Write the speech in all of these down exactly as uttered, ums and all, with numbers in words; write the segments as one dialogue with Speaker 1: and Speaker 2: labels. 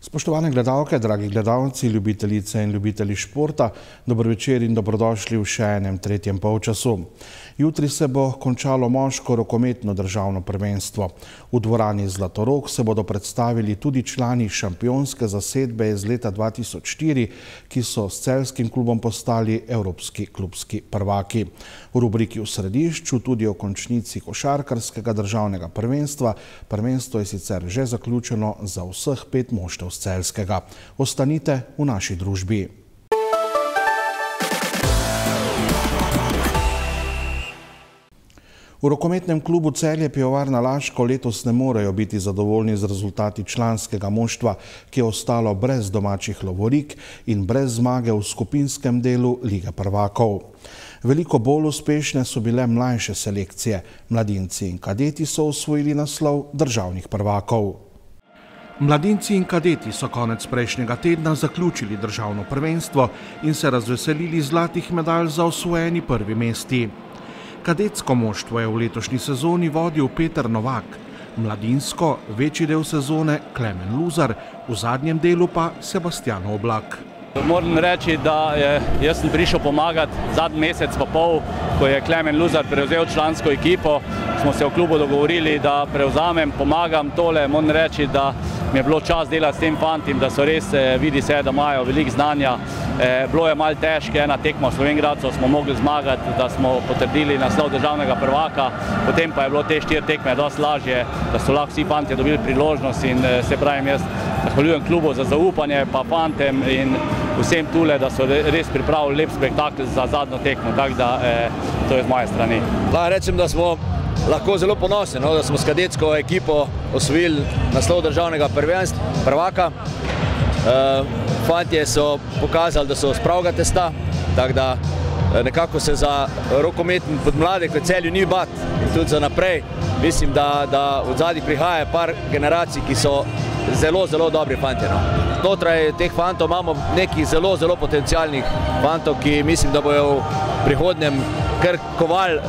Speaker 1: Spoštovane gledalke, dragi gledalci, ljubitelice in ljubitelji športa, dober večer in dobrodošli v še enem tretjem polčasu. Jutri se bo končalo moško rokometno državno prvenstvo. V dvorani Zlatorog se bodo predstavili tudi člani šampionske zasedbe iz leta dva tisoč štiri, ki so s celjskim klubom postali evropski klubski prvaki. V rubriki V središču tudi o končnici košarkarskega državnega prvenstva. Prvenstvo je sicer že zaključeno za vseh pet moštev z Celjskega. Ostanite v naši družbi. V rokometnem klubu Celje Pivovarna Laško letos ne morejo biti zadovoljni z rezultati članskega moštva, ki je ostalo brez domačih lovorik in brez zmage v skupinskem delu Lige prvakov. Veliko bolj uspešne so bile mlajše selekcije. Mladinci in kadeti so osvojili naslov državnih prvakov. Mladinci in kadeti so konec prejšnjega tedna zaključili državno prvenstvo in se razveselili zlatih medalj za osvojeni prvi mesti. Kadetsko moštvo je v letošnji sezoni vodil Peter Novak, mladinsko večji del sezone Klemen Luzar, v zadnjem delu pa Sebastian Oblak.
Speaker 2: Moram reči, da jaz sem prišel pomagati zadnji mesec pa pol, ko je Klemen Luzar prevzel člansko ekipo. Smo se v klubu dogovorili, da prevzamem, pomagam tole. Moram reči, da mi je bilo čas delati s tem fantim, da so res, vidi se, da imajo veliko znanja. Bilo je malo težke, ena tekma v Slovenj Gradcu smo mogli zmagati, da smo potrdili naslov državnega prvaka. Potem pa je bilo te štiri tekme dosti lažje, da so lahko vsi fantje dobili priložnost in se pravim, jaz zahvaljujem klubu za zaupanje, pa fantem in vsem tule, da so res pripravili lep spektakl za zadnjo tekmo, tako da to je z moje strani.
Speaker 3: Lahko rečem, da smo lahko zelo ponosni, da smo s kadetsko ekipo osvojili naslov državnega prvaka. Fantje so pokazali, da so s pravega testa, tako da nekako se za rokometni podmladek v Celju ni bat in tudi za naprej. Mislim, da od zadnjih prihaja par generacij, ki so zelo, zelo dobri fantje. Znotraj teh fantov imamo nekih zelo, zelo potencialnih fantov, ki mislim, da bojo v prihodnjem kar kovali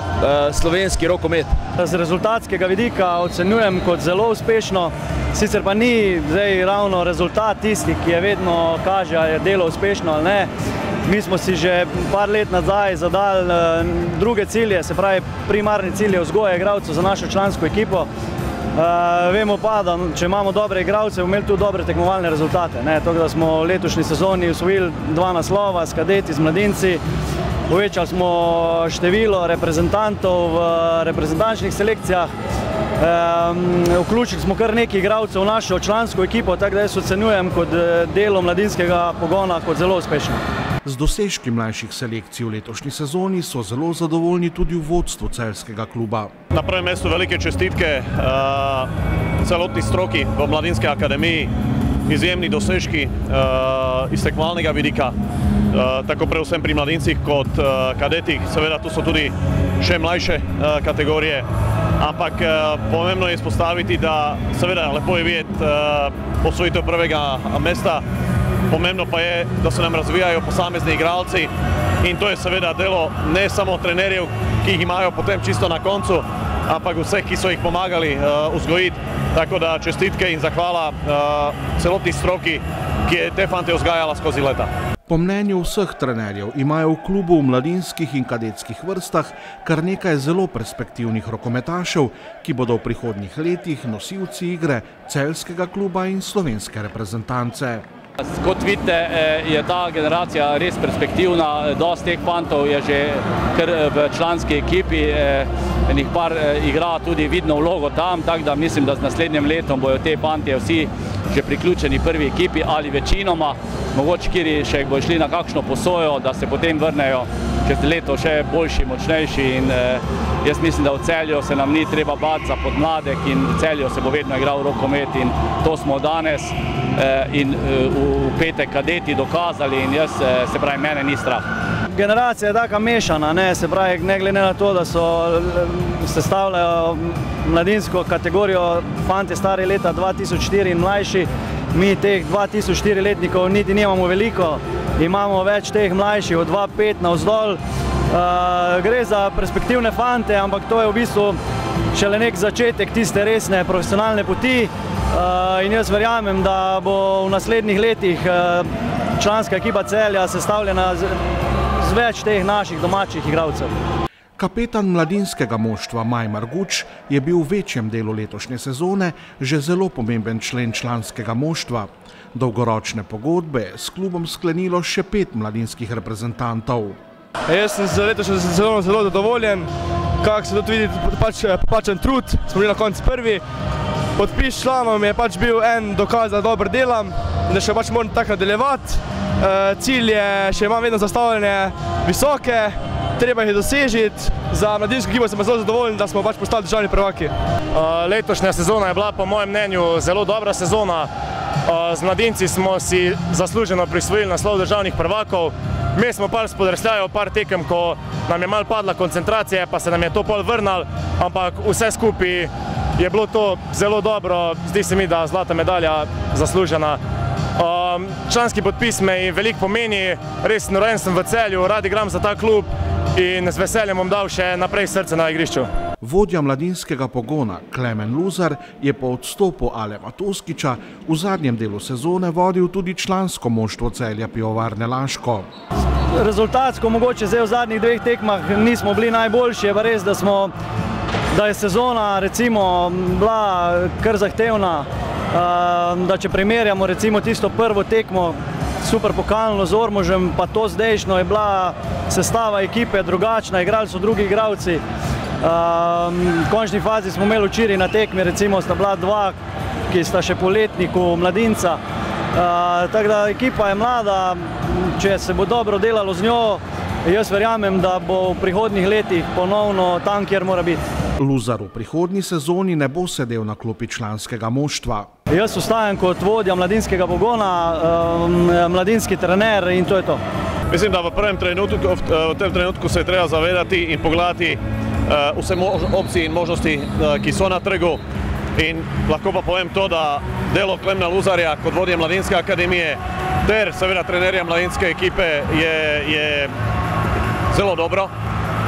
Speaker 3: slovenski rokomet.
Speaker 4: Z rezultatskega vidika ocenjujem kot zelo uspešno, sicer pa ni zdaj ravno rezultat tisti, ki je vedno kaže, ali je delo uspešno ali ne. Mi smo si že par let nazaj zadali druge cilje, se pravi primarni cilj je vzgoja igralcev za našo člansko ekipo. Vemo pa, da če imamo dobre igralce, bomo imeli tudi dobre tekmovalne rezultate. Tako da smo v letošnji sezoni osvojili dva naslova s kadeti, z mladinci. Povečali smo število reprezentantov v reprezentančnih selekcijah. Vključili smo kar nekaj igralcev v našo člansko ekipo, tako da jaz ocenjujem kot delo mladinskega pogona kot zelo uspešno.
Speaker 1: Z dosežki mlajših selekcij v letošnji sezoni so zelo zadovoljni tudi v vodstvu celjskega kluba.
Speaker 5: Na prvem mestu velike čestitke celotni stroki v Mladinski akademiji, izjemni dosežki iz tekmovalnega vidika, tako predvsem pri mladincih kot kadetih. Seveda tu so tudi še mlajše kategorije, ampak pomembno je izpostaviti, da seveda lepo je videti osvojitev prvega mesta. Pomembno pa je, da se nam razvijajo posamezni igralci in to je seveda delo ne samo trenerjev, ki jih imajo potem čisto na koncu, ampak vseh, ki so jih pomagali vzgojiti. Tako da čestitke in zahvala celotni stroki, ki je te fante vzgajala skozi leta.
Speaker 1: Po mnenju vseh trenerjev imajo v klubu v mladinskih in kadetskih vrstah kar nekaj zelo perspektivnih rokometašev, ki bodo v prihodnjih letih nosilci igre celjskega kluba in slovenske reprezentance.
Speaker 2: Kot vidite, je ta generacija res perspektivna. Dosti teh fantov je že kar v članski ekipi, enih par igra tudi vidno vlogo tam, tako da mislim, da z naslednjim letom bojo te fantje vsi že priključeni prvi ekipi ali večinoma. Mogoče kiri še bojo šli na kakšno posojo, da se potem vrnejo čez leto še boljši, močnejši in jaz mislim, da v Celju se nam ni treba bati za podmladek in v Celju se bo vedno igral rokomet in to smo danes in v petek kadeti dokazali in jaz, se pravi, mene ni strah.
Speaker 4: Generacija je taka mešana, se pravi, ne glede na to, da so sestavljajo mladinsko kategorijo fanti stari leta dva tisoč štiri in mlajši. Mi teh dva tisoč štiri letnikov niti nimamo veliko, imamo več teh mlajših od dva pet navzdol. Gre za perspektivne fante, ampak to je v bistvu šele nek začetek tiste resne profesionalne poti in jaz verjamem, da bo v naslednjih letih članska ekipa Celja sestavljena z več teh naših domačih igralcev.
Speaker 1: Kapetan mladinskega moštva Maj Marguč je bil v večjem delu letošnje sezone že zelo pomemben člen članskega moštva. Dolgoročne pogodbe je s klubom sklenilo še pet mladinskih reprezentantov.
Speaker 6: Jaz sem za letošnjo sezono zelo zadovoljen, kako se tudi vidi pač poplačan trud, smo bili na koncu prvi. Podpis članov mi je pač bil en dokaz, da dobro delam in da še pač moram tako nadaljevati. Cilj je, še imam vedno zastavljene visoke, treba jih dosežiti. Za mladinsko ekipo sem zelo zadovoljen, da smo pač postali državni prvaki.
Speaker 7: Letošnja sezona je bila po mojem mnenju zelo dobra sezona. Z mladinci smo si zasluženo prisvojili naslov državnih prvakov. Mi smo pa spodrsljali par tekem, ko nam je malo padla koncentracija, pa se nam je to pol vrnilo, ampak vse skupaj je bilo to zelo dobro. Zdi se mi, da zlata medalja zaslužena. Članski podpis me veliko pomeni, res rojen sem v Celju, rad igram za ta klub in z veseljem bom dal še naprej srce na igrišču.
Speaker 1: Vodja mladinskega pogona Klemen Luzar je po odstopu Alema Toskiča v zadnjem delu sezone vodil tudi člansko moštvo Celja Pivovarne Laško.
Speaker 4: Rezultatsko mogoče zdaj v zadnjih dveh tekmah nismo bili najboljši, je pa res, da smo, da je sezona recimo bila kar zahtevna, da če primerjamo recimo tisto prvo tekmo super pokalno z Ormožem, pa to zdajšnjo je bila sestava ekipe drugačna, igrali so drugi igralci. V končni fazi smo imeli včeraj na tekmi, recimo sta bila dva, ki sta še po letniku mladinca. Tako da ekipa je mlada, če se bo dobro delalo z njo, jaz verjamem, da bo v prihodnjih letih ponovno tam, kjer mora biti.
Speaker 1: Luzar v prihodnji sezoni ne bo sedel na klopi članskega moštva.
Speaker 4: Jaz ostajam kot vodja mladinskega pogona, mladinski trener in to je to.
Speaker 5: Mislim, da v prvem trenutku, v tem trenutku se je treba zavedati in pogledati vse opcije in možnosti, ki so na trgu. In lahko pa povem to, da delo Klemna Luzarja kot vodje Mladinske akademije ter seveda trenerja mladinske ekipe je, je zelo dobro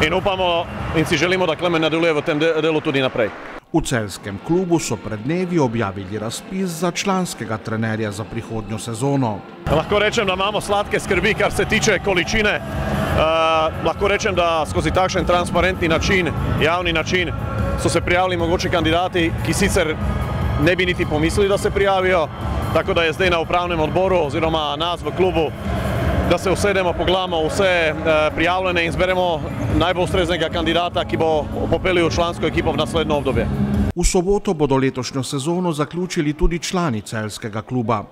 Speaker 5: in upamo in si želimo, da Klemen nadaljuje v tem delu tudi naprej.
Speaker 1: V celjskem klubu so pred dnevi objavili razpis za članskega trenerja za prihodnjo sezono.
Speaker 5: Lahko rečem, da imamo sladke skrbi, kar se tiče količine. Uh, lahko rečem, da skozi takšen transparentni način, javni način, so se prijavili mogoče kandidati, ki sicer ne bi niti pomislili, da se prijavijo, tako da je zdaj na upravnem odboru oziroma nas v klubu, da se usedemo, pogledamo vse uh, prijavljene in zberemo najbolj ustreznega kandidata, ki bo popeljal člansko ekipo v naslednjo obdobje.
Speaker 1: V soboto bodo letošnjo sezono zaključili tudi člani celjskega kluba.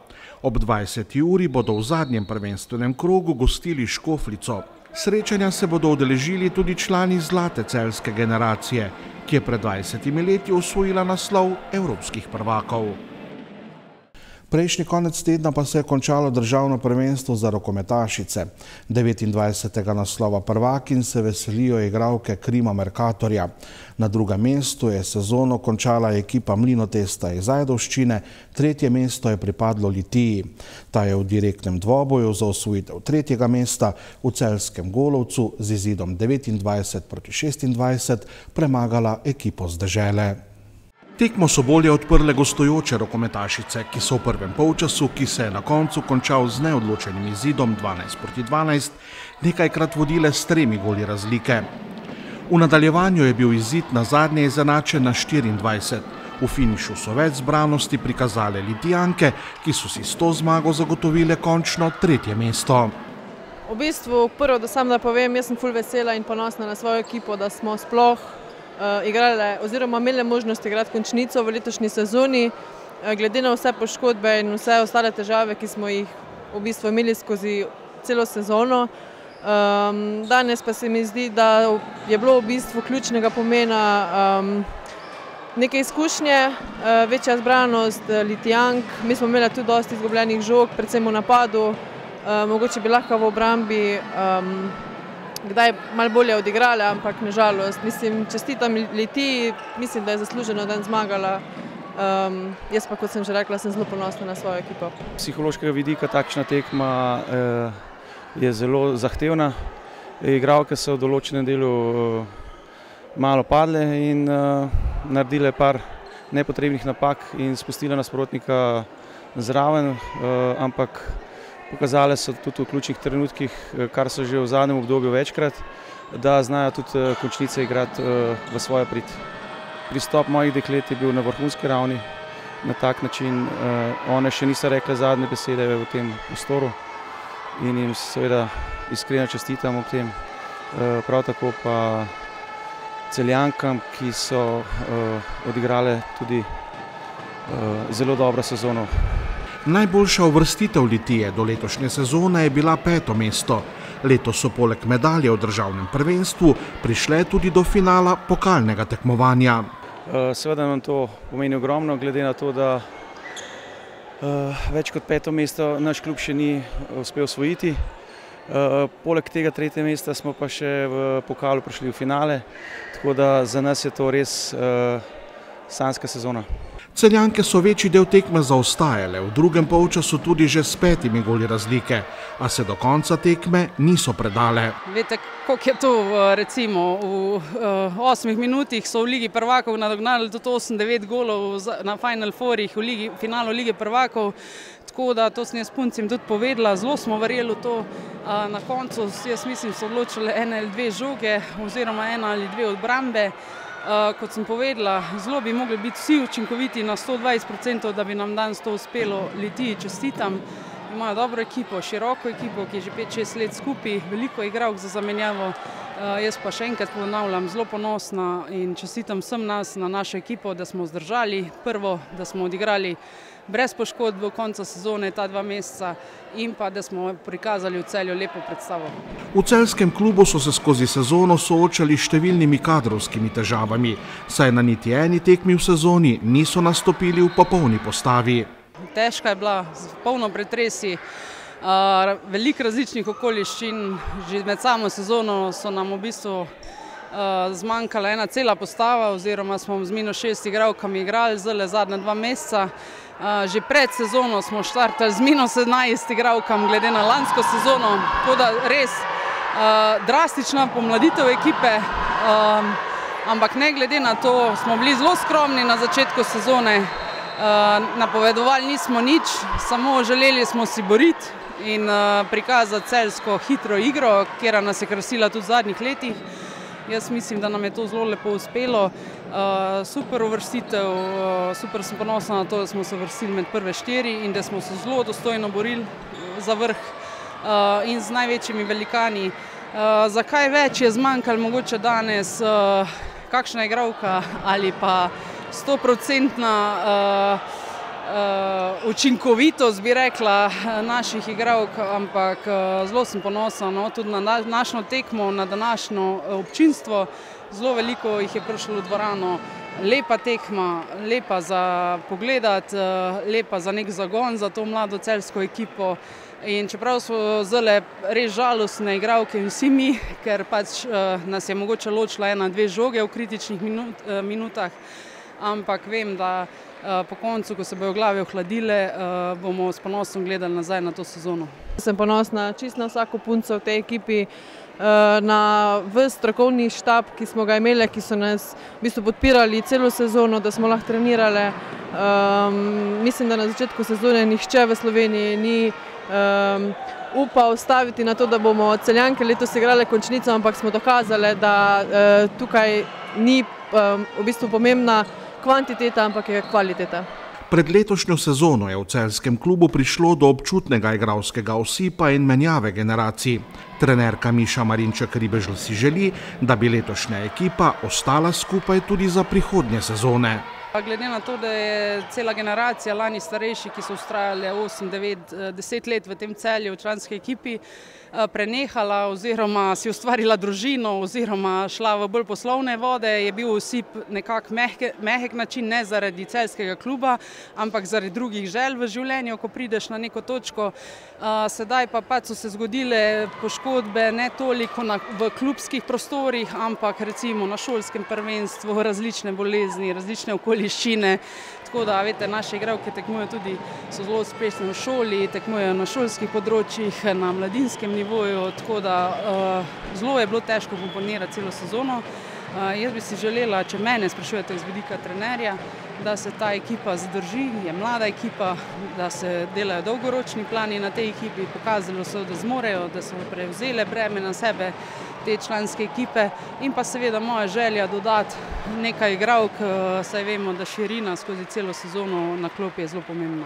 Speaker 1: Ob dvajseti uri bodo v zadnjem prvenstvenem krogu gostili Škofljico. Srečanja se bodo udeležili tudi člani zlate celjske generacije, ki je pred dvajsetimi leti osvojila naslov evropskih prvakov. Prejšnji konec tedna pa se je končalo državno prvenstvo za rokometašice. devetindvajsetega naslova prvakinj se veselijo igralke Krima Mercatorja. Na drugem mestu je sezono končala ekipa Mlinotesta iz Ajdovščine, tretje mesto je pripadlo Litiji. Ta je v direktnem dvoboju za osvojitev tretjega mesta v celjskem Golovcu z izidom devetindvajset proti šestindvajset premagala ekipo z dežele. Tekmo so bolje odprle gostujoče rokometašice, ki so v prvem polčasu, ki se je na koncu končal z neodločenim izidom dvanajst proti dvanajst, nekajkrat vodile s tremi goli razlike. V nadaljevanju je bil izid na zadnje izenačen na štiriindvajset. V finišu so več zbranosti prikazale Litijanke, ki so si s to zmago zagotovile končno tretje mesto.
Speaker 8: V bistvu, prvo, da sam da povem, jaz sem ful vesela in ponosna na svojo ekipo, da smo sploh igrali oziroma imeli možnost igrati končnico v letošnji sezoni, glede na vse poškodbe in vse ostale težave, ki smo jih v bistvu imeli skozi celo sezono. Danes pa se mi zdi, da je bilo v bistvu ključnega pomena neke izkušnje, večja zbranost Litijank. Mi smo imeli tudi dosti izgubljenih žog, predvsem v napadu, mogoče bi lahko v obrambi kdaj malo bolje odigrali, ampak nažalost, mislim, čestitam Litiji, mislim, da je zasluženo dan zmagala. Um, jaz pa, kot sem že rekla, sem zelo ponosna na svojo ekipo.
Speaker 9: Psihološkega vidika takšna tekma eh, je zelo zahtevna. Igralke so v določenem delu malo padle in naredile par nepotrebnih napak in spustile nasprotnika zraven, ampak pokazale so tudi v ključnih trenutkih, kar so že v zadnjem obdobju večkrat, da znajo tudi končnice igrati v svojo prid. Pristop mojih deklet je bil na vrhunski ravni, na tak način. One še niso rekle zadnje besede v tem prostoru in jim seveda iskreno čestitam ob tem. Prav tako pa Celjankam, ki so odigrale tudi zelo dobro sezono.
Speaker 1: Najboljša uvrstitev Litije do letošnje sezone je bila peto mesto. Letos so poleg medalje v državnem prvenstvu prišle tudi do finala pokalnega tekmovanja.
Speaker 9: Seveda nam to pomeni ogromno, glede na to, da več kot peto mesto naš klub še ni uspel osvojiti. Poleg tega tretje mesta smo pa še v pokalu prišli v finale, tako da za nas je to res sanjska sezona.
Speaker 1: Celjanke so večji del tekme zaostajale, v drugem polčasu tudi že s petimi goli razlike, a se do konca tekme niso predale.
Speaker 10: Veste, koliko je to, recimo, v osmih minutih so v Ligi prvakov nadognali tudi osem devet golov na Final Fourih v finalu Lige prvakov, tako da to sem jaz puncem tudi povedala, zelo smo verjeli v to. Na koncu, jaz mislim, so odločile ene ali dve žoge oziroma ena ali dve obrambe. Kot sem povedala, zelo bi mogli biti vsi učinkoviti na sto dvajset procentov, da bi nam danes to uspelo. Litiji čestitam, imajo dobro ekipo, široko ekipo, ki je že pet šest let skupaj, veliko igralk za zamenjavo. Jaz pa še enkrat ponavljam, zelo ponosna in čestitam vsem nas na našo ekipo, da smo zdržali. Prvo, da smo odigrali brez poškodb do konca sezone ta dva meseca in pa da smo prikazali v Celju lepo predstavo.
Speaker 1: V celjskem klubu so se skozi sezono soočali s številnimi kadrovskimi težavami, saj na niti eni tekmi v sezoni niso nastopili v popolni postavi.
Speaker 10: Težka je bila, polno pretresi, veliko različnih okoliščin. Že med samo sezono so nam v bistvu zmanjkala ena cela postava oziroma smo z minus šest igralkami igrali zdaj zadnja dva meseca. Že pred sezono smo štartali z minus sedemnajst igralkam glede na lansko sezono, tako da res drastična pomladitev ekipe, ampak ne glede na to smo bili zelo skromni na začetku sezone, napovedovali nismo nič, samo želeli smo si boriti in prikazati celjsko hitro igro, kjer nas je krasila tudi v zadnjih letih. Jaz mislim, da nam je to zelo lepo uspelo. Super uvrstitev, super sem ponosna na to, da smo se uvrstili med prve štiri in da smo se zelo dostojno borili za vrh in z največjimi velikani. Zakaj več je zmanjkalo mogoče danes, kakšna igralka ali pa stoprocentna učinkovitost, bi rekla, naših igralk, ampak zelo sem ponosna tudi na našo tekmo, na današnjo občinstvo. Zelo veliko jih je prišlo v dvorano. Lepa tekma, lepa za pogledati, lepa za nek zagon za to mlado celjsko ekipo. In čeprav so zdaj res žalostne igralke vsi mi, ker pač nas je mogoče ločila ena, dve žoge v kritičnih minutah, ampak vem, da po koncu, ko se bojo glave ohladile, bomo s ponosom gledali nazaj na to sezono.
Speaker 8: Sem ponosna čisto na vsako punco v tej ekipi, na ves strokovni štab, ki smo ga imeli, ki so nas v bistvu podpirali celo sezono, da smo lahko trenirale. Mislim, da na začetku sezone nihče v Sloveniji ni upal staviti na to, da bomo Celjanke letos igrale končnico, ampak smo dokazali, da tukaj ni v bistvu pomembna kvantiteta, ampak je kvaliteta.
Speaker 1: Pred letošnjo sezono je v celjskem klubu prišlo do občutnega igralskega osipa in menjave generacij. Trenerka Miša Marinček-Ribežl si želi, da bi letošnja ekipa ostala skupaj tudi za prihodnje sezone.
Speaker 10: Glede na to, da je cela generacija lani starejši, ki so vztrajali osem, devet, deset let v tem Celju v članski ekipi, prenehala oziroma si ustvarila družino oziroma šla v bolj poslovne vode, je bil osip nekako mehek način, ne zaradi celjskega kluba, ampak zaradi drugih želj v življenju, ko prideš na neko točko. Sedaj pa pač so se zgodile poškodbe ne toliko v klubskih prostorih, ampak recimo na šolskem prvenstvu, različne bolezni, različne okoliščine. okoliščine. Tako da, veste, naše igralke tekmujejo tudi, so zelo uspešne v šoli, tekmujejo na šolskih področjih, na mladinskem nivoju, tako da uh, zelo je bilo težko komponirati celo sezono. Uh, jaz bi si želela, če mene sprašujete z vidika trenerja, da se ta ekipa zadrži, je mlada ekipa, da se delajo dolgoročni plani na tej ekipi, pokazalo so, da zmorejo, da so prevzele breme na sebe te članske ekipe in pa seveda moja želja dodati nekaj igralk, saj vemo, da širina skozi celo sezono na klopi je zelo pomembna.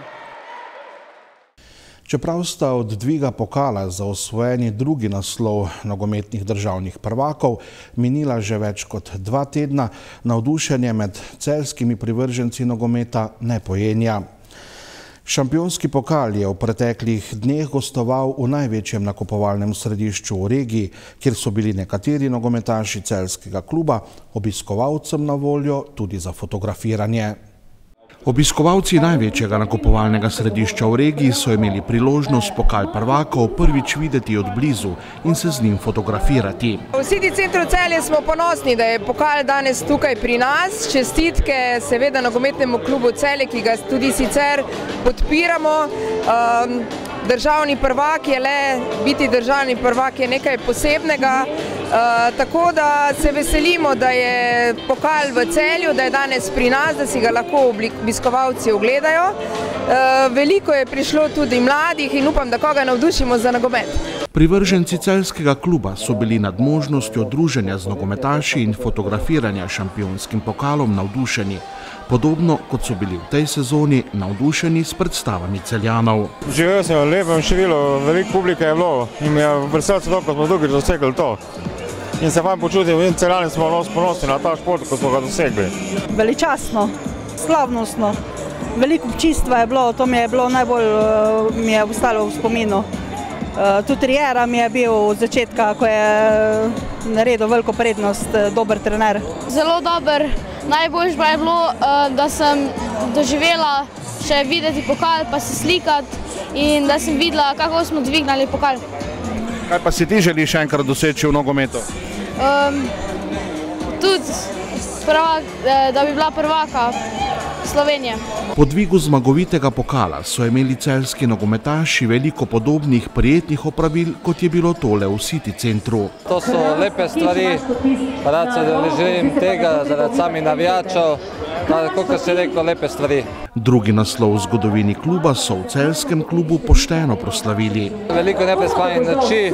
Speaker 1: Čeprav sta od dviga pokala za osvojeni drugi naslov nogometnih državnih prvakov minila že več kot dva tedna, navdušenje med celjskimi privrženci nogometa ne pojenja. Šampionski pokal je v preteklih dneh gostoval v največjem nakupovalnem središču v regiji, kjer so bili nekateri nogometaši celjskega kluba obiskovalcem na voljo tudi za fotografiranje. Obiskovalci največjega nakupovalnega središča v regiji so imeli priložnost pokal prvakov prvič videti od blizu in se z njim fotografirati.
Speaker 11: V City centru Celje smo ponosni, da je pokal danes tukaj pri nas. Čestitke seveda nogometnemu klubu Celje, ki ga tudi sicer podpiramo. Um, Državni prvak je le, biti državni prvak je nekaj posebnega, uh, tako da se veselimo, da je pokal v Celju, da je danes pri nas, da si ga lahko obiskovalci ogledajo. Uh, veliko je prišlo tudi mladih in upam, da koga navdušimo za nogomet.
Speaker 1: Privrženci celjskega kluba so bili nad možnostjo druženja z nogometaši in fotografiranja šampionskim pokalom navdušeni. Podobno kot so bili v tej sezoni navdušeni s predstavami Celjanov.
Speaker 12: Živel sem v lepem številu, veliko publike je bilo in mi je v srcu to, ko smo drugič dosegli to. In se fajn počutim, in Celjani smo ponosni na ta šport, ko smo ga dosegli.
Speaker 13: Veličastno, slavnostno, veliko občinstva je bilo, to mi je bilo najbolj, mi je ostalo v spominu. Tudi Riera mi je bil od začetka, ko je naredil veliko prednost, dober trener.
Speaker 14: Zelo dober. Najboljš pa je bilo, da sem doživela še videti pokal, pa se slikati in da sem videla, kako smo dvignali pokal.
Speaker 1: Kaj pa si ti želiš še enkrat doseči v nogometu?
Speaker 14: Um, tudi, prvak, da bi bila prvaka Slovenije.
Speaker 1: Po dvigu zmagovitega pokala so imeli celjski nogometaši veliko podobnih prijetnih opravil, kot je bilo tole v City centru.
Speaker 15: To so lepe stvari, pa rad se želim tega zaradi samih navijačev, kot se rekel, lepe stvari.
Speaker 1: Drugi naslov v zgodovini kluba so v celjskem klubu pošteno proslavili.
Speaker 15: Veliko neprespanih noči,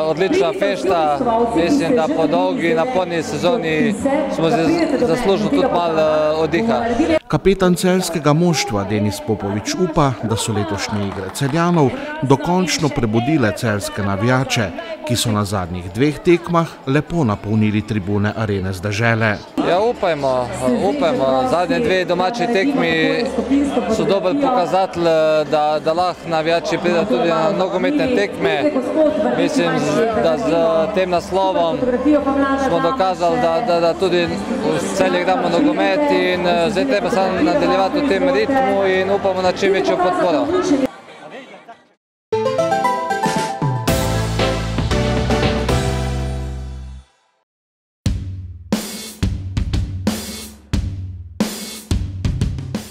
Speaker 15: odlična fešta, mislim, da po dolgi napolni sezoni smo zaslužili tudi malo oddiha.
Speaker 1: Kapetan celjskega moštva Denis Popovič upa, da so letošnje igre Celjanov dokončno prebudile celjske navijače, ki so na zadnjih dveh tekmah lepo napolnili tribune Arene z dežele.
Speaker 15: Ja, upajmo, upajmo. Zadnje dve domači tekmi so dober pokazatelj, da, da lahko navijači pridejo tudi na nogometne tekme. Mislim, da z tem naslovom smo dokazali, da, da, da tudi v Celju igramo nogomet in zdaj treba samo nadaljevati v tem ritmu in upamo na čim večjo podporo.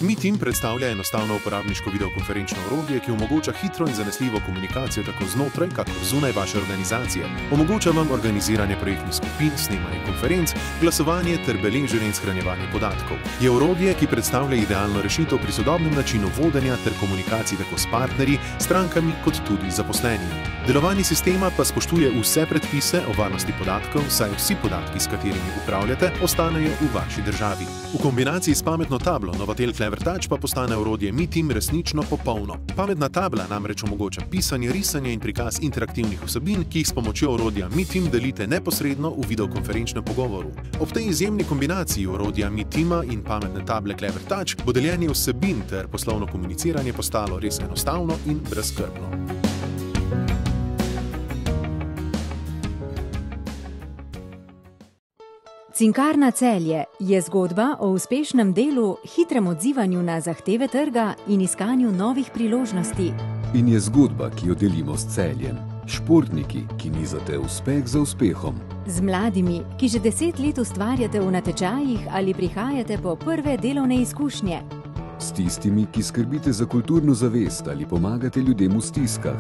Speaker 16: MeTeam predstavlja enostavno uporabniško videokonferenčno orodje, ki omogoča hitro in zanesljivo komunikacijo tako znotraj, kakor zunaj vaše organizacije. Omogoča vam organiziranje projektnih skupin, snemanje konferenc, glasovanje ter beleženje in shranjevanje podatkov. Je orodje, ki predstavlja idealno rešitev pri sodobnem načinu vodenja ter komunikaciji tako s partnerji, strankami kot tudi zaposlenimi. Delovanje sistema pa spoštuje vse predpise o varnosti podatkov, saj vsi podatki, s katerimi upravljate, ostanejo v vaši državi. V kombinaciji s pametno tablo Novatel Clever Touch pa postane orodje MeTeam resnično popolno. Pametna tabla namreč omogoča pisanje, risanje in prikaz interaktivnih vsebin, ki jih s pomočjo orodja MeTeam delite neposredno v videokonferenčnem pogovoru. Ob tej izjemni kombinaciji orodja MeTeama in pametne table Clever Touch bo deljenje vsebin ter poslovno komuniciranje postalo res enostavno in brezskrbno.
Speaker 17: Cinkarna Celje je zgodba o uspešnem delu, hitrem odzivanju na zahteve trga in iskanju novih priložnosti.
Speaker 18: In je zgodba, ki jo delimo s Celjem. Športniki, ki nizate uspeh za uspehom.
Speaker 17: Z mladimi, ki že deset let ustvarjate v natečajih ali prihajate po prve delovne izkušnje.
Speaker 18: S tistimi, ki skrbite za kulturno zavest ali pomagate ljudem v stiskah.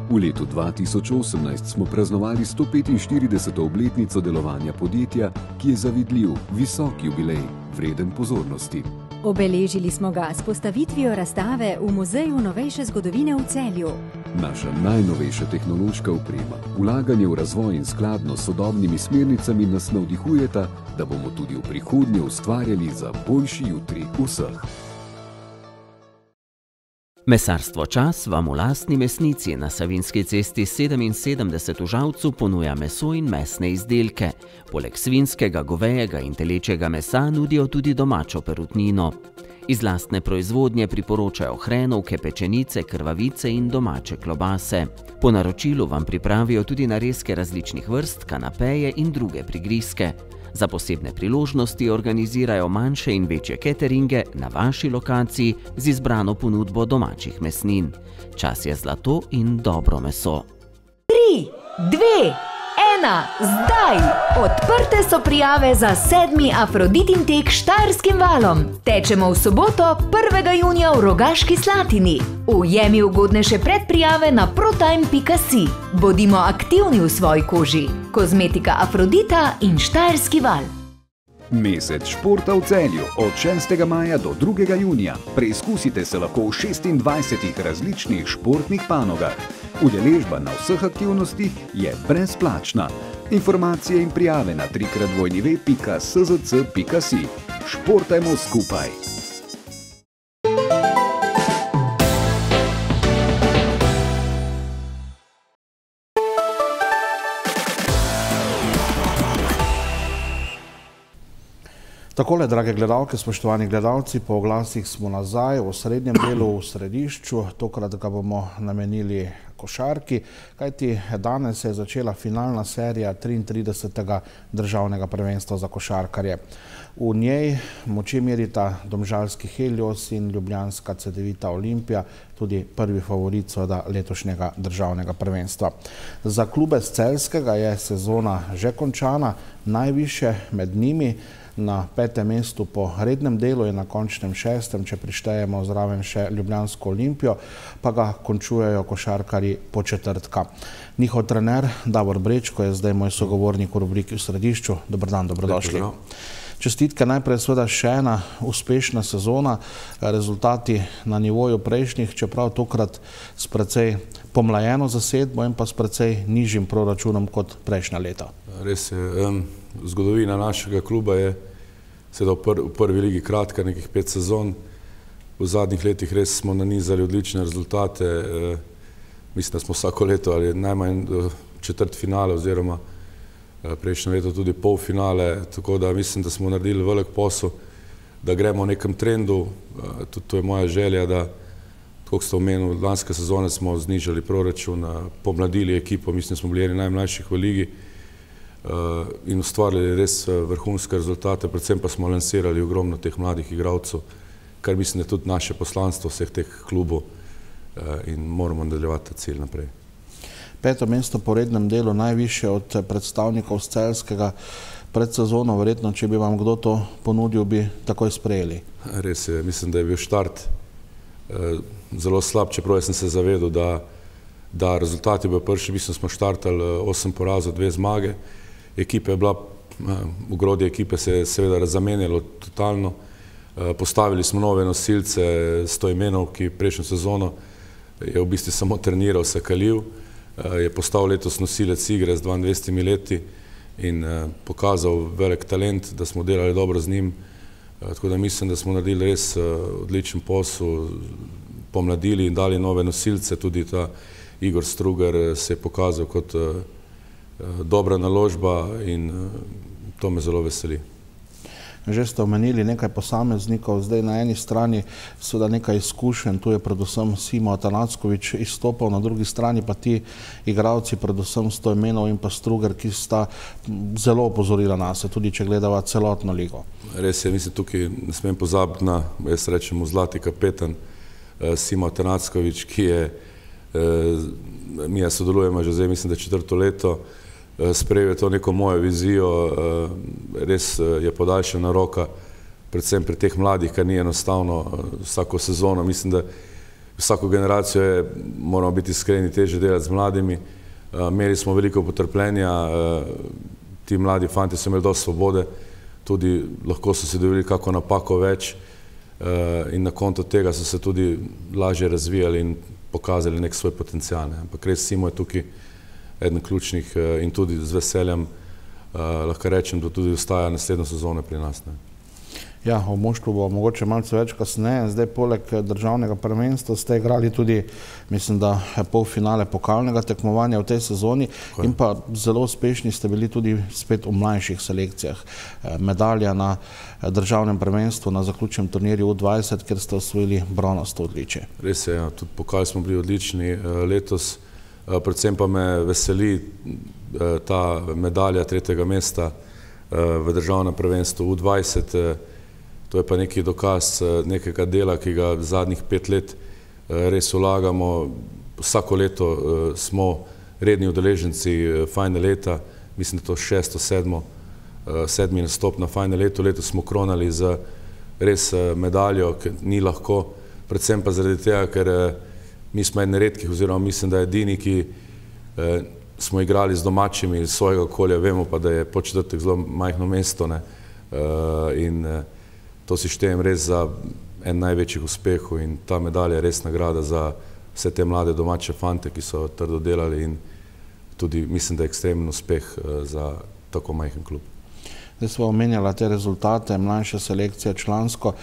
Speaker 18: V letu dva tisoč osemnajst smo praznovali sto petinštirideseto obletnico delovanja podjetja, ki je zavidljiv, visok jubilej, vreden pozornosti.
Speaker 17: Obeležili smo ga s postavitvijo razstave v Muzeju novejše zgodovine v Celju.
Speaker 18: Naša najnovejša tehnološka oprema, vlaganje v razvoj in skladno s sodobnimi smernicami nas navdihujeta, da bomo tudi v prihodnje ustvarjali za boljši jutri vseh.
Speaker 19: Mesarstvo Čas vam v lastni mesnici na Savinjski cesti sedeminsedemdeset v Žalcu ponuja meso in mesne izdelke. Poleg svinjskega, govejega in telečjega mesa nudijo tudi domačo perutnino. Iz lastne proizvodnje priporočajo hrenovke, pečenice, krvavice in domače klobase. Po naročilu vam pripravijo tudi narezke različnih vrst, kanapeje in druge prigrizke. Za posebne priložnosti organizirajo manjše in večje cateringe na vaši lokaciji z izbrano ponudbo domačih mesnin. Čas je zlato in dobro meso.
Speaker 20: Tri, dve, ena, zdaj! Odprte so prijave za sedmi Afroditin tek Štajerskim valom. Tečemo v soboto, prvega junija v Rogaški Slatini. Ujemi ugodnejše predprijave na protime pika si. Bodimo aktivni v svoji koži. Kozmetika Afrodita in Štajerski val.
Speaker 21: Mesec športa v Celju od šestega maja do drugega junija. Preizkusite se lahko v šestindvajsetih različnih športnih panogah. Udeležba na vseh aktivnostih je brezplačna. Informacije in prijave na trikrat dvojni ve pika s z c pika si. Športajmo skupaj!
Speaker 1: Takole, drage gledalke, spoštovani gledalci, po oglasih smo nazaj v srednjem delu, v središču. Tokrat ga bomo namenili košarki, kajti danes je začela finalna serija triintridesetega državnega prvenstva za košarkarje. V njej moči merita domžalski Helios in ljubljanska Cedevita Olimpija, tudi prvi favorit seveda letošnjega državnega prvenstva. Za klube z Celjskega je sezona že končana, najvišje med njimi. Na petem mestu po rednem delu je na končnem šestem, če prištejemo zraven še ljubljansko Olimpijo, pa ga končujejo košarkarji po četrtka. Njihov trener Davor Brečko je zdaj moj sogovornik v rubriki v središču. Dobar dan, dobrodošli. Čestitke najprej seveda še ena uspešna sezona, rezultati na nivoju prejšnjih, čeprav tokrat s precej pomlajeno zasedbo in pa s precej nižjim proračunom kot prejšnja leta.
Speaker 22: Res je, zgodovina našega kluba je seveda v prvi ligi kratka, nekih pet sezon. V zadnjih letih res smo nanizali odlične rezultate. Mislim, da smo vsako leto ali najmanj četrt finale oziroma prejšnje leto tudi pol finale, tako da mislim, da smo naredili velik posel, da gremo v nekem trendu. Tudi to je moja želja, da, tako kot ste omenili, lanske sezone smo znižali proračun, pomladili ekipo, mislim, da smo bili eni najmlajših v ligi in ustvarili res vrhunske rezultate, predvsem pa smo lansirali ogromno teh mladih igralcev, kar mislim, da je tudi naše poslanstvo vseh teh klubov in moramo nadaljevati ta cilj naprej.
Speaker 1: Peto mesto po rednem delu, najvišje od predstavnikov z Celjskega pred sezono, verjetno, če bi vam kdo to ponudil, bi takoj sprejeli.
Speaker 22: Res je, mislim, da je bil štart zelo slab, čeprav sem se zavedal, da, da rezultati bo prvi, mislim, smo štartali osem porazov, dve zmage. Ekipa je bila, ogrodje ekipe se je seveda razamenjalo totalno. Postavili smo nove nosilce, Stojmenov, ki prejšnjo sezono je v bistvu samo treniral, se kalil. Je postal letos nosilec igre z dvaindvajsetimi leti in pokazal velik talent, da smo delali dobro z njim. Tako da mislim, da smo naredili res odličen posel, pomladili in dali nove nosilce. Tudi ta Igor Strugar se je pokazal kot dobra naložba in to me zelo veseli.
Speaker 1: Že ste omenili nekaj posameznikov, zdaj na eni strani seveda nekaj izkušenj, tu je predvsem Simo Atanackovič izstopal, na drugi strani pa ti igralci, predvsem Stojmenov in pa Strugar, ki sta zelo opozorila nas, tudi če gledava celotno ligo.
Speaker 22: Res je, mislim, tukaj ne smem pozabiti na, jaz rečem, zlati kapetan Simo Atanackovič, ki je Mi je sodelujemo že zdaj, mislim, da četrto leto, sprejel je to neko mojo vizijo, res je podaljšana roka, predvsem pri teh mladih, kar ni enostavno vsako sezono. Mislim, da vsako generacijo je, moramo biti iskreni, težje delati z mladimi. Imeli smo veliko potrpljenja, ti mladi fanti so imeli dosti svobode, tudi lahko so si dovolili kako napako več in na konto tega so se tudi lažje razvijali in pokazali nek svoj potencial. Ampak res Simo je tukaj eden ključnih in tudi z veseljem lahko rečem, da tudi ostaja naslednjo sezono pri nas.
Speaker 1: Ja, o moštvu bo mogoče malce več kasneje. Zdaj poleg državnega prvenstva ste igrali tudi, mislim, da polfinale pokalnega tekmovanja v tej sezoni in pa zelo uspešni ste bili tudi spet v mlajših selekcijah. Medalja na državnem prvenstvu na zaključnem turnirju U dvajset, kjer ste osvojili bronasto odličje.
Speaker 22: Res je, tudi pokal smo bili odlični letos, predvsem pa me veseli ta medalja tretjega mesta v državnem prvenstvu U dvajset. To je pa neki dokaz nekega dela, ki ga zadnjih pet let res vlagamo. Vsako leto smo redni udeleženci Final leta, mislim, da to šesto, sedmo, sedmi nastop na Final letu. Letos smo kronali za res medaljo, ki ni lahko, predvsem pa zaradi tega, ker mi smo eni redkih, oziroma mislim, da edini, ki smo igrali z domačimi iz svojega okolja, vemo pa, da je Podčetrtek zelo majhno mesto in to si štejem res za en največjih uspehov in ta medalja je res nagrada za vse te mlade domače fante, ki so trdo delali in tudi mislim, da je ekstremen uspeh za tako majhen klub.
Speaker 1: Zdaj smo omenjala te rezultate, mlajše selekcije člansko,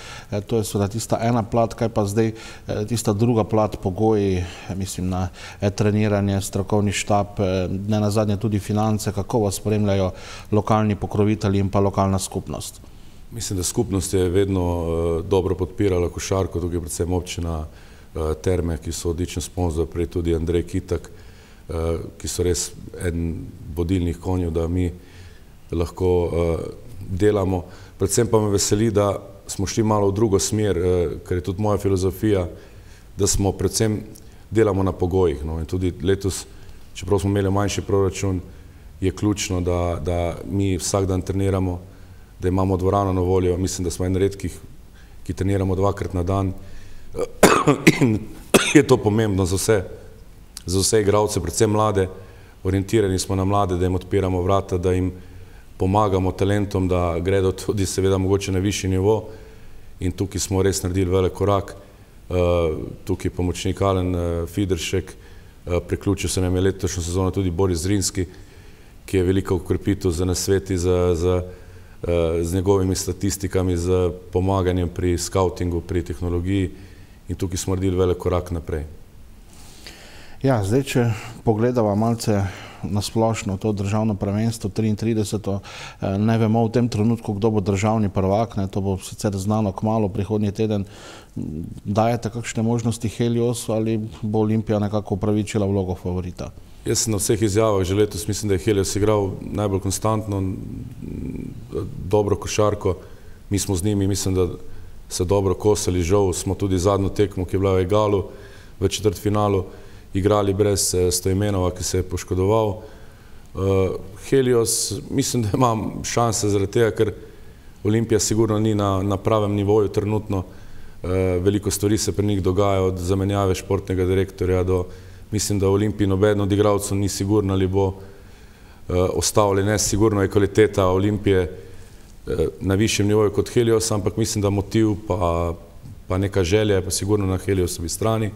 Speaker 1: to je seveda tista ena plat, kaj pa zdaj tista druga plat, pogoji, mislim na treniranje, strokovni štab, ne nazadnje tudi finance, kako vas spremljajo lokalni pokrovitelji in pa lokalna skupnost?
Speaker 22: Mislim, da skupnost je vedno dobro podpirala košarko, tukaj predvsem občina Terme, ki so odličen sponzor, prej tudi Andrej Kitak, ki so res eden vodilnih konjev, da mi lahko delamo. Predvsem pa me veseli, da smo šli malo v drugo smer, ker je tudi moja filozofija, da smo predvsem delamo na pogojih. In tudi letos, čeprav smo imeli manjši proračun, je ključno, da mi vsak dan treniramo, da imamo dvorano na voljo. Mislim, da smo en redkih, ki treniramo dvakrat na dan in je to pomembno za vse, za vse igralce, predvsem mlade. Orientirani smo na mlade, da jim odpiramo vrata, da jim pomagamo talentom, da gredo tudi seveda mogoče na višji nivo in tukaj smo res naredili velik korak. Tukaj pomočnik Alen Fideršek, priključil se nam je letošnjo sezono tudi Boris Zrinski, ki je veliko ukrepitev za nasveti, za z njegovimi statistikami, z pomaganjem pri skautingu, pri tehnologiji in tukaj smo naredili velik korak naprej.
Speaker 1: Ja, zdaj, če pogledava malce nasplošno to državno prvenstvo, triintrideseto, ne vemo v tem trenutku, kdo bo državni prvak, to bo sicer znano kmalu, prihodnji teden. Dajete kakšne možnosti Heliosu ali bo Olimpija nekako upravičila vlogo favorita?
Speaker 22: Jaz sem na vseh izjavah že letos, mislim, da je Helios igral najbolj konstantno, dobro košarko. Mi smo z njimi, mislim, da se dobro kosali, žal smo tudi zadnjo tekmo, ki je bila v egalu, v četrtfinalu, igrali brez Stojmenova, ki se je poškodoval. Helios, mislim, da ima šanse zaradi tega, ker Olimpija sigurno ni na pravem nivoju trenutno. Veliko stvari se pri njih dogaja, od zamenjave športnega direktorja do, mislim, da v Olimpiji nobeden od igralcev ni sigurno ali bo ostal ali ne. Sigurno je kvaliteta Olimpije na višjem nivoju kot Helios, ampak mislim, da motiv pa neka želja je pa sigurno na Heliosovi strani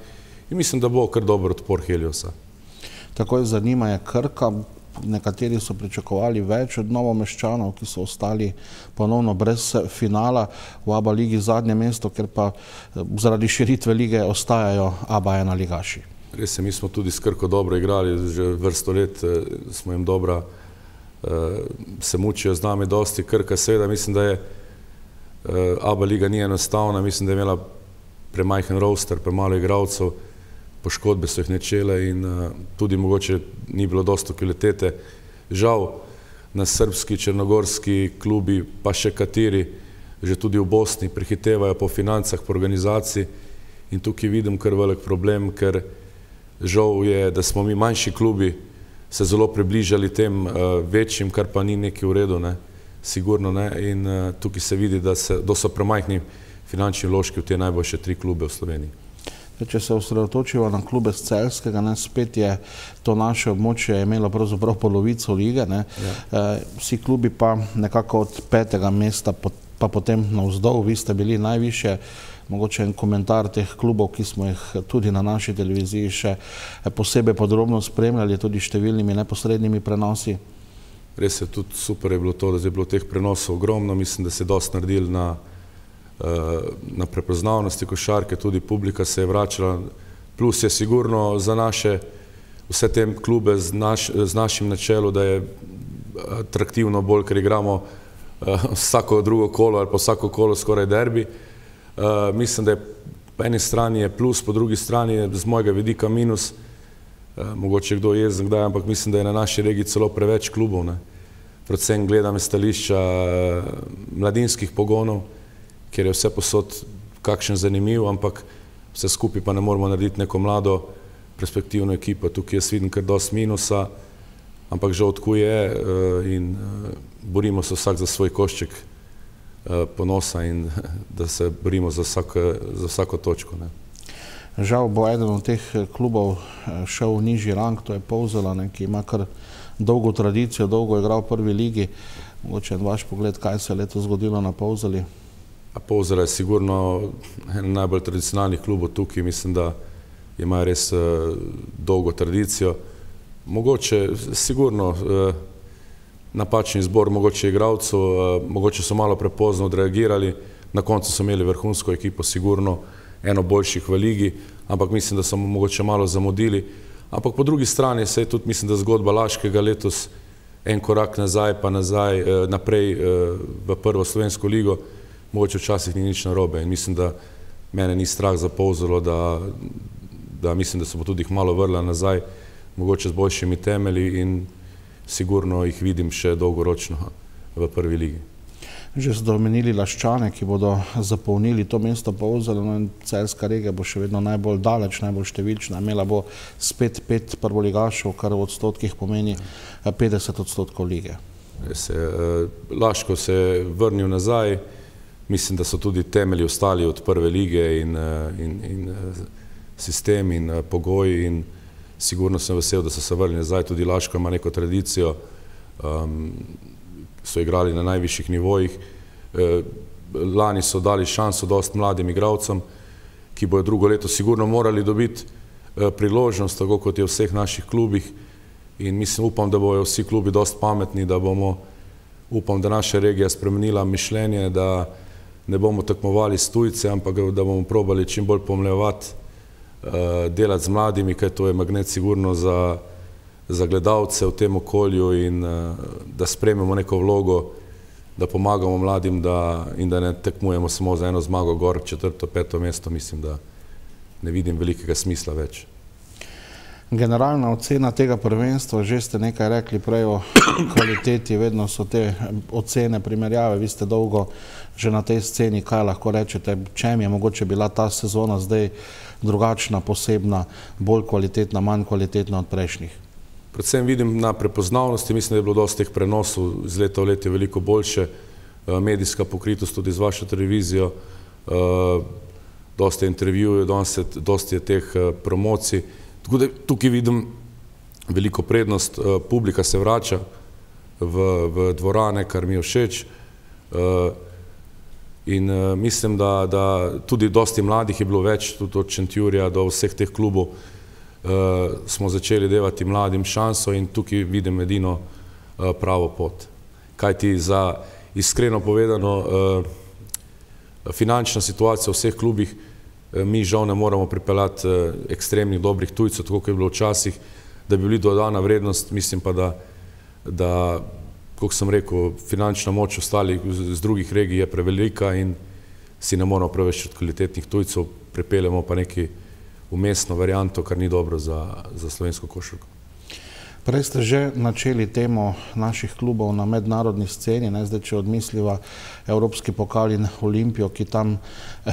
Speaker 22: in mislim, da bo kar dober odpor Heliosa.
Speaker 1: Takoj zanima je Krka. Nekateri so pričakovali več od Novomeščanov, ki so ostali ponovno brez finala v A B A ligi zadnje mesto, ker pa zaradi širitve lige ostajajo A B A ena ligaši.
Speaker 22: Res je, mi smo tudi s Krko dobro igrali, že vrsto let smo jim dobra, se mučijo z nami dosti. Krka seveda, mislim, da je A B A liga ni enostavna, mislim, da je imela premajhen roster, premalo igralcev, poškodbe so jih nečele in tudi mogoče ni bilo dosto kvalitete. Žal na srbski, črnogorski klubi, pa še kateri, že tudi v Bosni, prehitevajo po financah, po organizaciji in tukaj vidim kar velik problem, ker Žal je, da smo mi manjši klubi se zelo približali tem večjim, kar pa ni nekaj v redu, ne, sigurno ne, in tukaj se vidi, da so premajhni finančni vložki v te najboljše tri klube v Sloveniji.
Speaker 1: Če se osredotočimo na klube z Celjskega, spet je to naše območje imelo pravzaprav polovico lige, vsi klubi pa nekako od petega mesta pa potem navzdol, vi ste bili najvišje, mogoče en komentar teh klubov, ki smo jih tudi na naši televiziji še posebej podrobno spremljali, tudi številnimi neposrednimi prenosi.
Speaker 22: Res je, tudi super je bilo to, da je bilo teh prenosov ogromno, mislim, da se je dosti naredili na na prepoznavnosti košarke, tudi publika se je vračala, plus je sigurno za naše, vse te klube z našim načelu, da je atraktivno bolj, ker igramo vsako drugo kolo ali pa vsako kolo skoraj derbi. Mislim, da je po eni strani je plus, po drugi strani je z mojega vidika minus, mogoče kdo jezen kdaj, ampak mislim, da je na naši regiji celo preveč klubov, ne. Predvsem gledam stališča mladinskih pogonov, ker je vse posod kakšen zanimiv, ampak vse skupaj pa ne moramo narediti neko mlado perspektivno ekipo. Tukaj jaz vidim kar dosti minusa, ampak žal tako je in borimo se vsak za svoj košček ponosa in da se borimo za vsako točko.
Speaker 1: Žal bo eden od teh klubov šel v nižji rang, to je Polzela, ki ima kar dolgo tradicijo, dolgo igral v prvi ligi. Mogoče en vaš pogled, kaj se je letos zgodilo na Polzeli?
Speaker 22: Polzela je sigurno en najbolj tradicionalnih klubov tukaj, mislim, da imajo res dolgo tradicijo. Mogoče, sigurno, napačni izbor mogoče igralcev, mogoče so malo prepozno odreagirali, na koncu so imeli vrhunsko ekipo, sigurno eno boljših v ligi, ampak mislim, da so mogoče malo zamudili. Ampak po drugi strani se je tudi, mislim, da zgodba Laškega letos en korak nazaj, pa nazaj, naprej v prvo slovensko ligo, mogoče včasih ni nič narobe in mislim, da mene ni strah za Polzelo, da mislim, da se bo tudi jih malo vrla nazaj, mogoče z boljšimi temelji in sigurno jih vidim še dolgoročno v prvi ligi.
Speaker 1: Že ste omenili Laščane, ki bodo zapolnili to mesto Polzelo, in celjska regija bo še vedno najbolj daleč, najbolj številčna, imela bo spet pet prvoligašev, kar v odstotkih pomeni petdeset odstotkov lige.
Speaker 22: Laško se je vrnil nazaj, mislim, da so tudi temelji ostali od prve lige in sistem in pogoji in sigurno sem vesel, da so se vrnili nazaj. Tudi Laško ima neko tradicijo, so igrali na najvišjih nivojih. Lani so dali šanso dosti mladim igralcem, ki bojo drugo leto sigurno morali dobiti priložnost, tako kot je v vseh naših klubih in mislim, upam, da bojo vsi klubi dosti pametni, da bomo, upam, da naša regija spremenila mišljenje, da ne bomo tekmovali s tujce, ampak da bomo probali čim bolj pomlevati, delati z mladimi, kaj to je magnet sigurno za gledalce v tem okolju in da sprejmemo neko vlogo, da pomagamo mladim in da ne tekmujemo samo za eno zmago gor, četrto, peto mesto, mislim, da ne vidim velikega smisla več.
Speaker 1: Generalna ocena tega prvenstva, že ste nekaj rekli prej o kvaliteti, vedno so te ocene, primerjave, vi ste dolgo že na tej sceni, kaj lahko rečete, čem je mogoče bila ta sezona zdaj drugačna, posebna, bolj kvalitetna, manj kvalitetna od prejšnjih?
Speaker 22: Predvsem vidim na prepoznavnosti, mislim, da je bilo dosti teh prenosov, iz leta v let je veliko boljše, medijska pokritost tudi z vašo televizijo, dosti intervjujev, dosti je teh promocij. Tako da tukaj vidim veliko prednost, publika se vrača v dvorane, kar mi je všeč in mislim, da tudi dosti mladih je bilo več, tudi od Šentjurja do vseh teh klubov smo začeli devati mladim šanso in tukaj vidim edino pravo pot. Kajti za iskreno povedano finančna situacija v vseh klubih, mi žal ne moramo pripeljati ekstremnih dobrih tujcev, tako kot je bilo včasih, da bi bili dodana vrednost, mislim pa, da, kot sem rekel, finančna moč ostalih z drugih regij je prevelika in si ne moramo preveč od kvalitetnih tujcev, pripeljemo pa neki vmesno varianto, kar ni dobro za slovensko košarko.
Speaker 1: Prej ste že načeli temo naših klubov na mednarodni sceni, ne, zdaj, če odmisliva Evropski pokal in Olimpijo, ki tam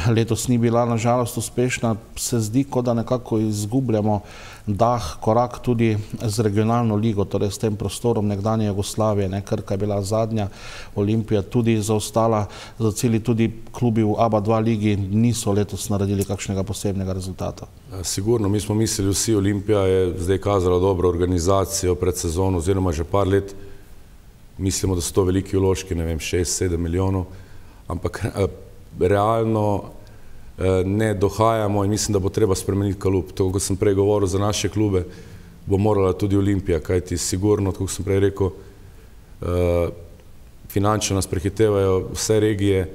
Speaker 1: letos ni bila nažalost uspešna, se zdi, kot da nekako izgubljamo dah, korak tudi z regionalno ligo, torej s tem prostorom nekdanje Jugoslavije, ne, Krka je bila zadnja, Olimpija tudi zaostala za cilji, tudi klubi v A B A dva ligi niso letos naredili kakšnega posebnega rezultata.
Speaker 22: Sigurno, mi smo mislili vsi, Olimpija je zdaj kazala dobro organizacijo pred sezono, oziroma že par let, mislimo, da so to veliki vložki, ne vem, šest sedem milijonov, ampak realno ne dohajamo in mislim, da bo treba spremeniti klub. To, kot sem prej govoril za naše klube, bo morala tudi Olimpija, kajti sigurno, kot sem prej rekel, finančno nas prehitevajo vse regije,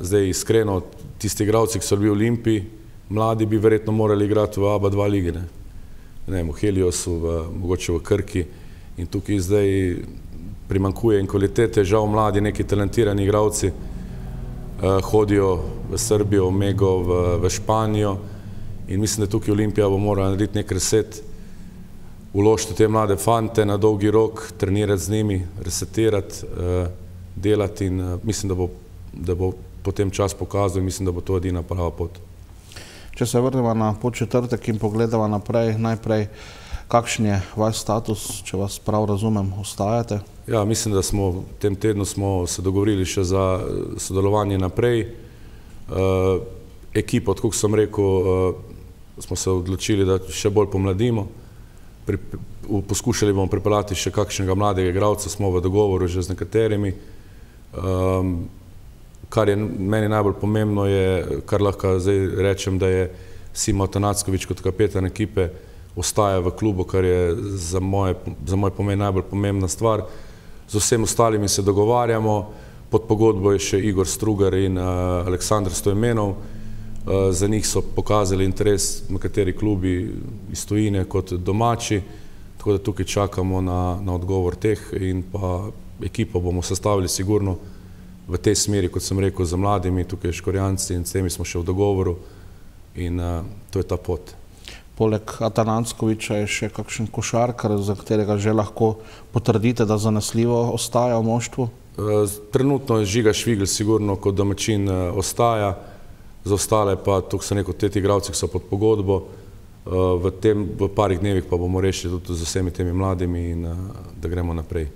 Speaker 22: zdaj iskreno, tisti igralci, ki so bili v Olimpiji, mladi bi verjetno morali igrati v A B A dva ligi, ne, ne vem, v Heliosu, v, mogoče v Krki, in tukaj zdaj primankuje in kvalitete, žal mladi, neki talentirani igralci uh, hodijo v Srbijo, v Mego, v, v Španijo in mislim, da tukaj Olimpija bo morala narediti nek reset, uložiti te mlade fante na dolgi rok, trenirati z njimi, resetirati, uh, delati in uh, mislim, da bo, da bo potem čas pokazal in mislim, da bo to edina prava pot.
Speaker 1: Če se vrnemo na Podčetrtek in pogledamo naprej, najprej, kakšen je vaš status, če vas prav razumem, ostajate?
Speaker 22: Ja, mislim, da smo v tem tednu smo se dogovorili še za sodelovanje naprej. E, ekipo, tako sem rekel, e, smo se odločili, da še bolj pomladimo. Pri, poskušali bomo pripeljati še kakšnega mladega igralca, smo v dogovoru že z nekaterimi. E, Kar je meni najbolj pomembno je, kar lahko zdaj rečem, da je Simo Atanacković kot kapetan ekipe ostaja v klubu, kar je za moje, za moj pomen najbolj pomembna stvar. Z vsem ostalimi se dogovarjamo, pod pogodbo je še Igor Strugar in uh, Aleksandar Stojmenov. Uh, za njih so pokazali interes nekateri klubi iz tujine kot domači, tako da tukaj čakamo na, na odgovor teh in pa ekipo bomo sestavili sigurno v tej smeri, kot sem rekel, za mladimi, tukaj Škorjanci in s temi smo še v dogovoru in uh, to je ta pot.
Speaker 1: Poleg Atanackovića je še kakšen košarkar, za katerega že lahko potrdite, da zanesljivo ostaja v moštvu?
Speaker 22: Uh, trenutno je Žiga Švigl sigurno kot domačin uh, ostaja, za ostale pa, tukaj sem rekel, teti igralci, ki so pod pogodbo, uh, v tem, v parih dnevih pa bomo rešili tudi z vsemi temi mladimi in uh, da gremo naprej.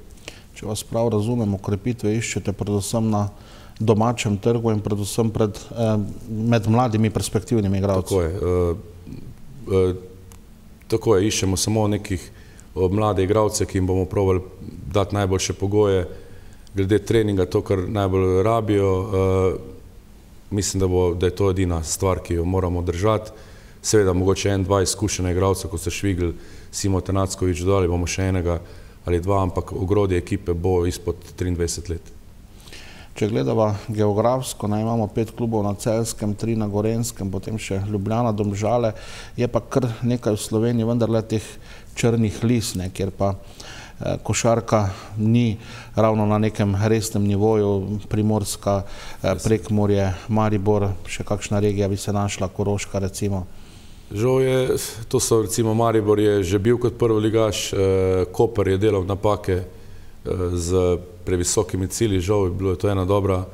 Speaker 1: Če vas prav razumem, ukrepitve iščete predvsem na domačem trgu in predvsem pred, eh, med mladimi perspektivnimi igralci.
Speaker 22: Tako je. E, e, tako je, iščemo samo nekih o, mlade igralce, ki jim bomo probali dati najboljše pogoje glede treninga, to, kar najbolj rabijo. E, mislim, da, bo, da je to edina stvar, ki jo moramo držati. Seveda, mogoče en, dva izkušena igralca, kot so Švigl, Simo Atanacković, dodali bomo še enega ali dva, ampak ogrodje ekipe bo izpod triindvajset let.
Speaker 1: Če gledava geografsko, naj imamo pet klubov na Celjskem, tri na Gorenskem, potem še Ljubljana, Domžale, je pa kar nekaj v Sloveniji, vendarle teh črnih lis, ne, kjer pa eh, košarka ni ravno na nekem resnem nivoju, Primorska, eh, Prekmurje, Maribor, še kakšna regija bi se našla, Koroška recimo.
Speaker 22: Žal je, to so recimo Maribor je že bil kot prvoligaš, eh, Koper je delal napake eh, z previsokimi cilji, žal je bilo to ena dobra,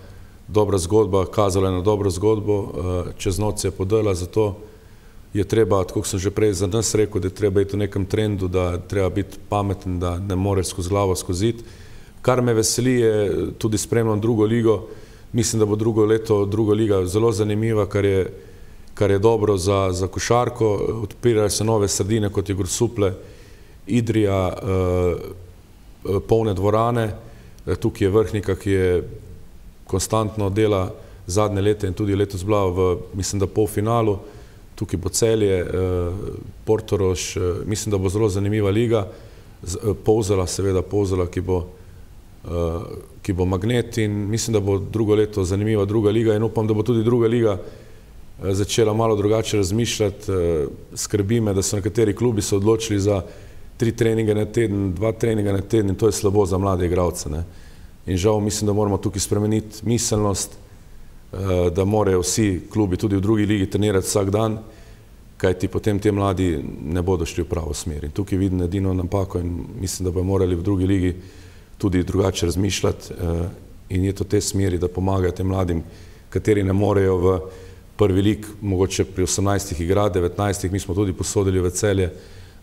Speaker 22: dobra zgodba, kazala je na dobro zgodbo, eh, čez noč se je podala, zato je treba, tako sem že prej za nas rekel, da je treba iti v nekem trendu, da treba biti pameten, da ne moreš skozi glavo skoziti. Kar me veseli je, tudi spremljam drugo ligo, mislim, da bo drugo leto, druga liga zelo zanimiva, kar je kar je dobro za, za košarko, odpirajo se nove sredine, kot je Grosuplje, Idrija, eh, polne dvorane, tukaj je Vrhnika, ki je konstantno dela zadnje leta in tudi letos bila v, mislim, da polfinalu, tukaj bo Celje, eh, Portorož, eh, mislim, da bo zelo zanimiva liga, Z, eh, Polzela, seveda Polzela, ki bo, eh, ki bo magnet in mislim, da bo drugo leto zanimiva druga liga in upam, da bo tudi druga liga začela malo drugače razmišljati. Skrbi me, da so nekateri klubi se odločili za tri treninge na teden, dva treninga na teden in to je slabo za mlade igralce. Ne? In žal mislim, da moramo tukaj spremeniti miselnost, da morajo vsi klubi tudi v drugi ligi trenirati vsak dan kajti potem te mladi ne bodo šli v pravo smer. In tukaj vidim edino napako in mislim, da bi morali v drugi ligi tudi drugače razmišljati in je to te smeri, da pomagajo tem mladim, kateri ne morejo v prvi lig, mogoče pri osemnajstih igrati, devetnajstih, mi smo tudi posodili v Celje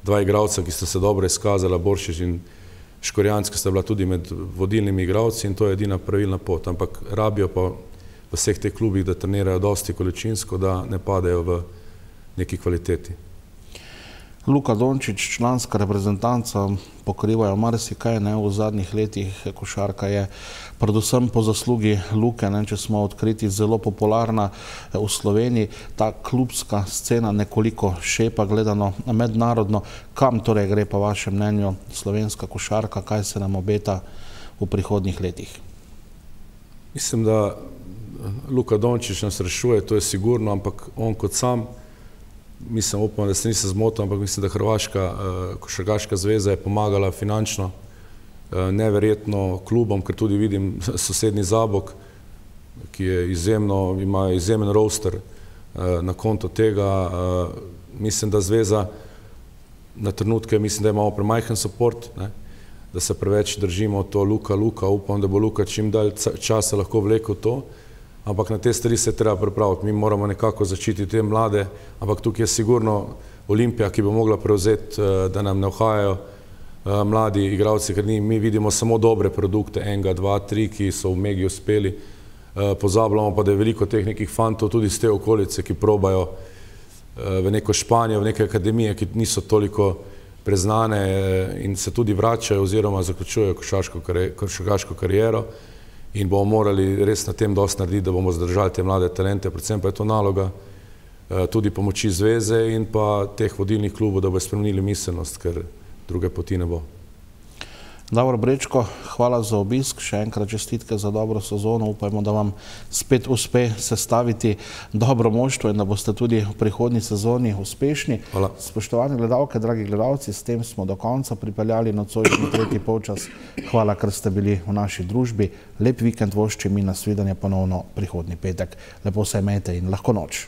Speaker 22: dva igralca, ki sta se dobro izkazala, Boršič in Škorjanc, ki sta bila tudi med vodilnimi igralci in to je edina pravilna pot, ampak rabijo pa v vseh teh klubih, da trenirajo dosti količinsko, da ne padejo v neki kvaliteti.
Speaker 1: Luka Dončić, članska reprezentanca, pokrivajo marsikaj, ne, v zadnjih letih košarka je predvsem po zaslugi Luke, ne, če smo odkriti, zelo popularna v Sloveniji, ta klubska scena nekoliko šepa gledano mednarodno. Kam torej gre po vašem mnenju slovenska košarka, kaj se nam obeta v prihodnjih letih?
Speaker 22: Mislim, da Luka Dončić nas rešuje, to je sigurno, ampak on kot sam, mislim, upam, da se nisem zmotil, ampak mislim, da Hrvaška košarkaška zveza je pomagala finančno neverjetno klubom, ker tudi vidim sosednji Zabok, ki je izjemno, ima izjemen roster na konto tega. Mislim, da zveza na trenutke, mislim, da imamo premajhen support, da se preveč držimo to Luka, Luka, upam, da bo Luka čim dalj časa lahko vlekel to, ampak na te stvari se treba pripraviti. Mi moramo nekako začititi te mlade, ampak tukaj je sigurno Olimpija, ki bo mogla prevzeti, da nam ne uhajajo mladi igralci, ker mi vidimo samo dobre produkte, enega, dva, tri, ki so v Megi uspeli. Pozabljamo pa, da je veliko teh nekih fantov tudi iz te okolice, ki probajo v neko Španijo, v neke akademije, ki niso toliko preznane in se tudi vračajo oziroma zaključujejo košarkaško kariero. In bomo morali res na tem dosti narediti, da bomo zadržali te mlade talente, predvsem pa je to naloga tudi pomoči zveze in pa teh vodilnih klubov, da bo spremenili miselnost, ker druge poti ne bo.
Speaker 1: Davor Brečko, hvala za obisk, še enkrat čestitke za dobro sezono, upajmo, da vam spet uspe sestaviti dobro moštvo in da boste tudi v prihodnji sezoni uspešni.
Speaker 22: Hvala.
Speaker 1: Spoštovani gledalke, dragi gledalci, s tem smo do konca pripeljali nocojšnji tretji polčas. Hvala, ker ste bili v naši družbi. Lep vikend voščim in nasvidenje ponovno prihodnji petek. Lepo se imejte in lahko noč.